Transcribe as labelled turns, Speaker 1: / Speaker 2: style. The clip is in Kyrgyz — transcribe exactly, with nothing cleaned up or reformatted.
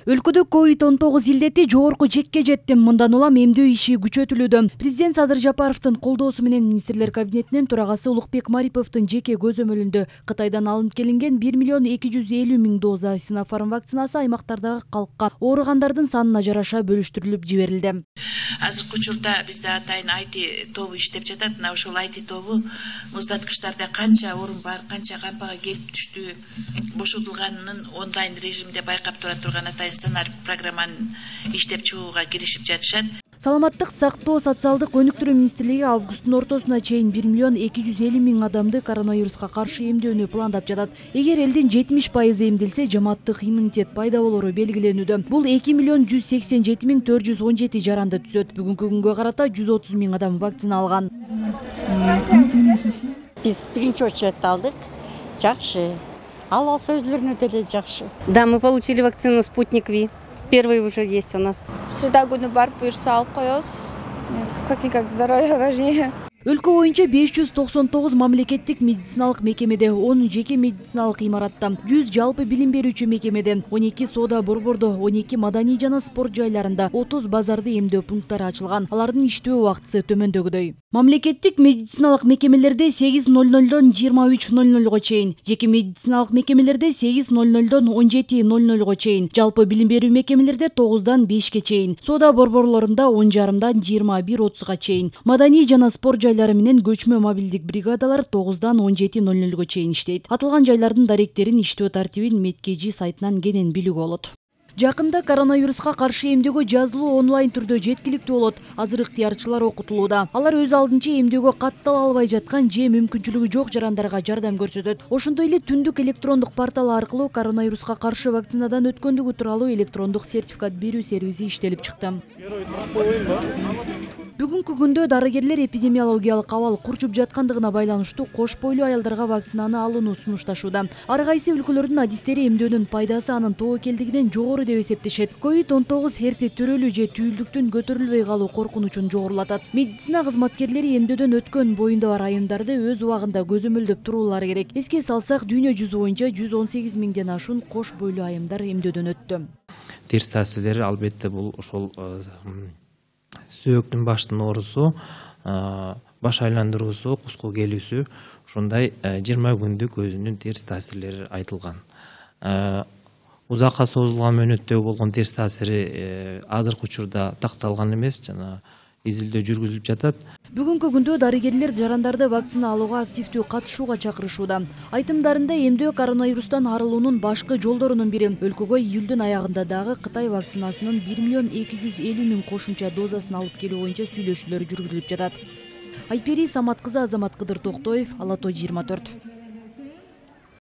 Speaker 1: Өлкөдө ковид он тогуз илдети жогорку жекке жетти. Мындан улам эмдөө иши күчөтүлүүдө. Президент Садыр Жапаровдун колдоосу менен Министрлер кабинетинин төрагасы Улукбек Мариповдун жеке көзөмөлүндө Кытайдан алынып келинген бир миллион эки жүз элүү миң доза Синофарм вакцинасы аймактардагы калкка ооругандардын санына жараша бөлүштүрүлүп жиберилди.
Speaker 2: Азыркы учурда бизде атайын ай ти тобу иштеп жатат. Мына ошол ай ти тобу муздаткычтарда канча орун бар, канча кампага келип түштү, бошотулганын онлайн режимде байкап тура турган атайын сценарий программаны иштеп чыгууга киришип жатышат.
Speaker 1: Саламаттык сактоо социалдык өнүктүрүү министрлиги августтун ортосуна чейин бир миллион эки жүз элүү миң адамды коронавируска каршы эмдөөнү пландап жатат. Эгер элдин жетимиш пайызы эмделсе, жамааттык иммунитет пайда болору белгиленүүдө. Бул эки миллион жүз сексен жети миң төрт жүз он жети жаранды түзөт. Бүгүнкү күнгө карата жүз отуз миң адам вакцина алган.
Speaker 3: Биз биринчи очередде алдык. Жакшы. Ал алса өзлөрүнө деле жакшы.
Speaker 4: Да, мы получили вакцину «Спутник Ви». Первый уже есть у нас.
Speaker 5: Среда күнү барып буюрса алып коебуз. Как-никак здоровье важнее.
Speaker 1: Өлкө боюнча беш жүз токсон тогуз мамлекеттик медициналык мекемеде, он жеке медициналык имаратта, жүз жалпы билим берүүчү мекемеде, он эки соода борбордо, он эки маданий жана спорт жайларында, отуз базарды эмдөө пункттары ачылган. Алардын иштөө убактысы төмөндөгүдөй. Мамлекеттик медициналык мекемелерде сегиз ноль нолдон жыйырма үч ноль нолго чейин, жеке медициналык мекемелерде сегиз ноль нолдон он жети ноль нолго чейин, жалпы билим берүү мекемелерде тогуздан бешке чейин, соода борборлорунда он жарымдан жыйырма бир отузга чейин, маданий жана спорт жайлары менен көчмө мобилдик бригадалар тогуздан он жети ноль нолго чейин иштейт. Атылган жайлардын даректерин, иштөө тартибин Медкежи сайтынан кенен билүүгө болот. Жакында коронавируска каршы эмдөөгө жазылуу онлайн түрдө жеткиликтүү болот. Азыр ыктыярчылар окутулууда. Алар өз алдынча эмдөөгө каттала албай жаткан же мүмкүнчүлүгү жок жарандарга жардам көрсөтөт. Ошондой эле түндүк электрондук портал аркылуу коронавируска каршы вакцинадан өткөндүгү тууралуу электрондук сертификат берүү сервиси иштелип чыкты. Бүгүнкү күндө дарыгерлер эпидемиологиялык абал курчуп жаткандыгына байланыштуу кош бойлуу аялдарга вакцинаны алууну сунушташууда. Ар кайсы өлкөлөрдүн адистери эмдөөнүн пайдасы анын тобокелдигинен жогору деп эсептешет. ковид он тогуз эрте төрөлүү же түйүлдүктүн көтөрүлбөй калуу коркунучун жогорулатат. Медицина кызматкерлери эмдөөдөн өткөн боюнда бар айымдарды өз убагында көзөмөлдөп туруулары керек. Эске салсак, дүйнө жүзү боюнча жүз он сегиз миңден ашуун кош бойлуу айымдар эмдөөдөн өттү.
Speaker 6: Терс таасирлери албетте бул ошол сөөктүн баштын оорусу, баш айландыруусу, куску келүүсү, ушундай жыйырма күндүк өзүнүн терс таасирлери айтылган. Узакка созулган мөөнөттөгү болгон терс таасири азыркы учурда такталган эмес, жана изилдөө жүргүзүлүп жатат.
Speaker 1: Бүгүнкү күндө дарыгерлер жарандарды вакцина алууга активдүү катышууга чакырышууда. Айтымдарында эмдөө коронавирустан арылуунун башкы жолдорунун бири. Өлкөгө июлдун аягында дагы Кытай вакцинасынын бир миллион эки жүз элүү миң кошумча дозасын алып келүү боюнча сүйлөшүүлөр жүргүзүлүп жатат. Айпери Самат кызы, Азамат Кыдыр Токтоев, Ала той жыйырма төрт.